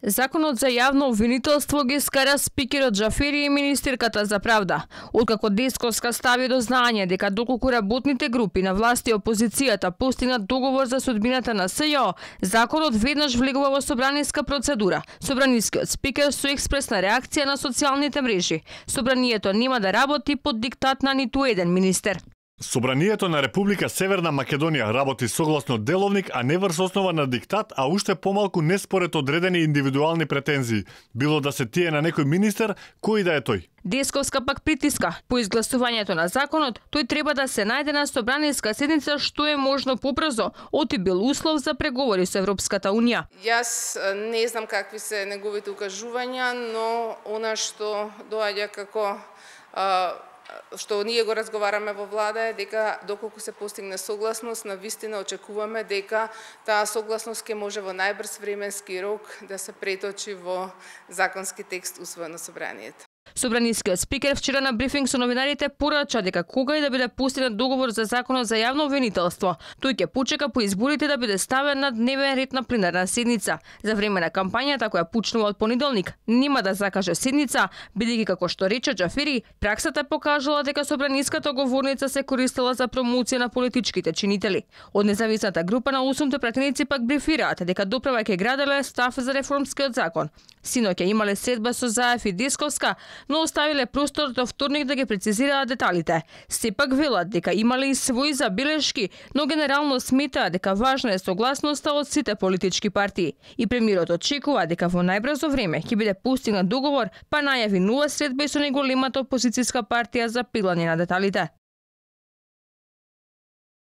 Законот за јавно обвинителство ги скара спикерот Џафери и министерката за правда. Откако Десковска стави до знање дека доколку работните групи на власт и опозицијата постигнат договор за судбината на СЈО, законот веднаш влегува во собраниска процедура. Собранискиот спикер со експресна реакција на социјалните мрежи. Собранието нема да работи под диктат на ниту еден министер. Собранието на Република Северна Македонија работи согласно деловник, а не врз основа на диктат, а уште помалку не според одредени индивидуални претензии, било да се тие на некој министер, кој да е тој. Десковска пак притиска. По изгласувањето на законот, тој треба да се најде на собраниска седница што е можно побрзо, оти бил услов за преговори со Европската Унија. Јас не знам какви се неговите укажувања, но она што доаѓа како што ние го разговараме во влада е дека доколку се постигне согласност, навистина очекуваме дека таа согласност ќе може во најбрз временски рок да се преточи во законски текст усвоен на собранието. Собранискиот спикер вчера на брифинг со новинарите порача дека кога и да биде постигнат договор за законот за јавно обвинителство, тој ќе почека по изборите да биде ставен на дневен ред на пленарна седница. За време на кампањата која почнува од понеделник, нема да закаже седница, бидејќи како што рече Џафери, праксата покажала дека собраниската говорница се користела за промоција на политичките чинители. Од независната група на 8 пратеници пак брифираат дека доправа ќе граделе став за реформскиот закон. Синоќа имале средба со Заев и Десковска, но оставиле простор до вторник да ги прецизираат деталите. Сепак велат дека имале и своји забелешки, но генерално сметаат дека важна е согласноста од сите политички партии. И премиерот очекува дека во најбрзо време ќе биде постигнат договор, па најави нова средба и со неголемата опозицијска партија за пеглање на деталите.